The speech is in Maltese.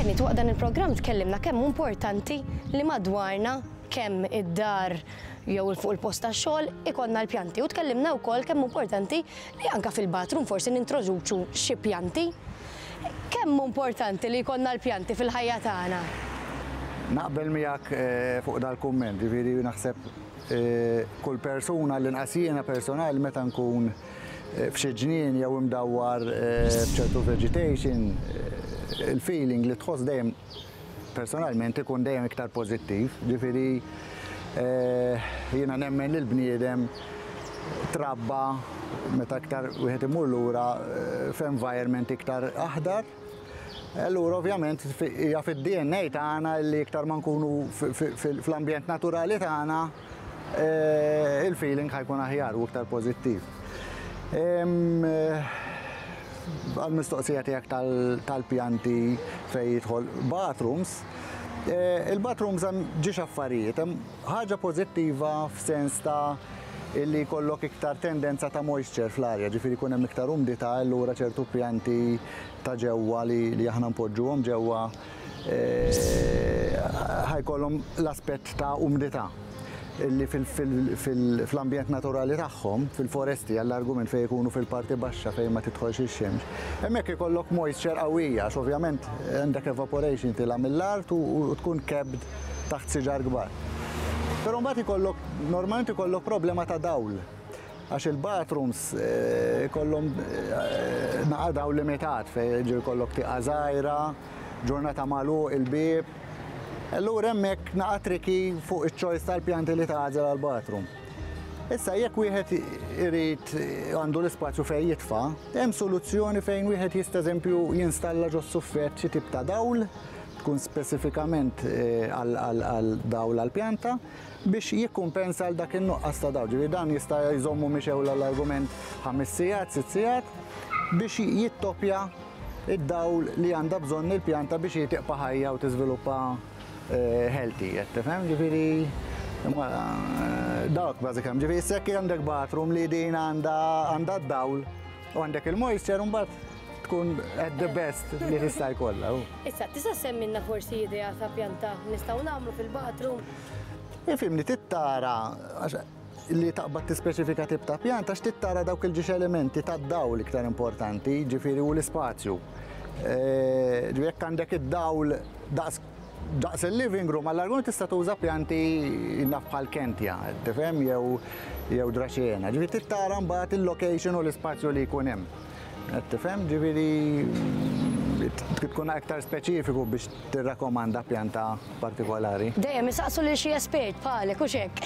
Kenneth, waqt dan il-programm tkellimna kemm hu importanti li madwarna kemm id-dar jew fuq il-post tax-xogħol ikollna l-pjanti u tkellimna wkoll kemm hu importanti li anke fil-bathroom forsi nintroduċu xi pjanti. Kemm hu importanti li jkollna l-pjanti fil-ħajja tagħna? Naqbel miegħek fuq dal-kumment, ġifieri naħseb kull persuna, l-inqas jiena personali meta nkun f'xi ġnien jew imdawwar b'ċertu vegetation, il-feeling li tħoss dejjem personalment ikun dejjem iktar pożittiv. Ġifieri jiena nemmen li l-bniedem trabba meta iktar wieħed imur lura f'environment iktar aħdar. Allura ovvjament hija fid-DNA tagħna li iktar ma nkunu fl-ambjent naturali tagħna il-feeling ħa jkun aħjar u iktar pożittiv. Għal-mistoqsija tiegħek tal-pjanti fejn jidħol bathrooms, il-bathrooms hemm ġiex affarijiet, hemm ħaġa pożittiva f'sens ta' illi jkollok iktar tendenza ta' moisture fl-arja, ġifieri jkun hemm iktar umdità, allura ċertu pjanti ta' ġewwa li aħna npoġġuhom ġewwa ħa jkollhom l-aspett ta' umdità illi fl-ambjent naturali tagħhom, fil-foresti għall-argument fejn ikunu fil-parti baxxa fejn ma tidħolx ix-xemx, hemmhekk ikollok moisture qawwija għax ovvjament għandek evaporation tilgħa mill-art u tkun kebbed taħt siġar kbar. Però mbagħad ikollok normalment ikollok problema ta' dawl. Għax il-bathrooms ikollhom naqa' dawl limitat fejn ġieli jkollok tieqa żgħira, ġurnata magħluq il-bieb. Allura hemmhekk naqa' tricky fuq iċ-choice tal-pjanti li tagħżel għall-bathroom. Issa jekk wieħed irid għandu l-ispazju fejn jitfa', hemm soluzzjoni fejn wieħed jista' eżempju jinstalla ġo suffett xi tip ta' dawl, tkun spesifikament għal dawl għall-pjanta, biex jikkumpensa għal dak in-nuqqas ta' dawl. Ġifieri dan jista' jżommu mixgħul għall-argument ħames sigħat, sitt sigħat, biex jittopja id-dawl li għandha bżonn il-pjanta biex hi tibqa' ħajja u tiżviluppa healthy, qed tifhem? Ġifieri dawk bażikament. Ġifieri issa jekk għandek bathroom li din għandha għandha d-dawl u għandek il-moisture mbagħad tkun at the best li tista' jkollha. Issa, tista' semmilna forsi idea ta' pjanta nistgħu nagħmlu fil-bathroom? Ifhimni, trid tara li taqbad tispeċifika tip ta' pjanta għax trid tara dawk il-ġiex elementi tad-dawl iktar importanti, ġifieri u l-ispazju. Ġifieri jekk għandek id-dawl daqs daqs il-living room, għall-argument tista' tuża pjanti naf bħal kentja, tifhem, jew jew draċena. Ġifieri trid tara mbagħad il-location u l-ispazju li jkun hemm. Qed tifhem, ġifieri tkun aktar speċifiku biex tirrakkomanda pjanta partikolari. Dejjem isaqsu lil xi espert bħalek, hux hekk?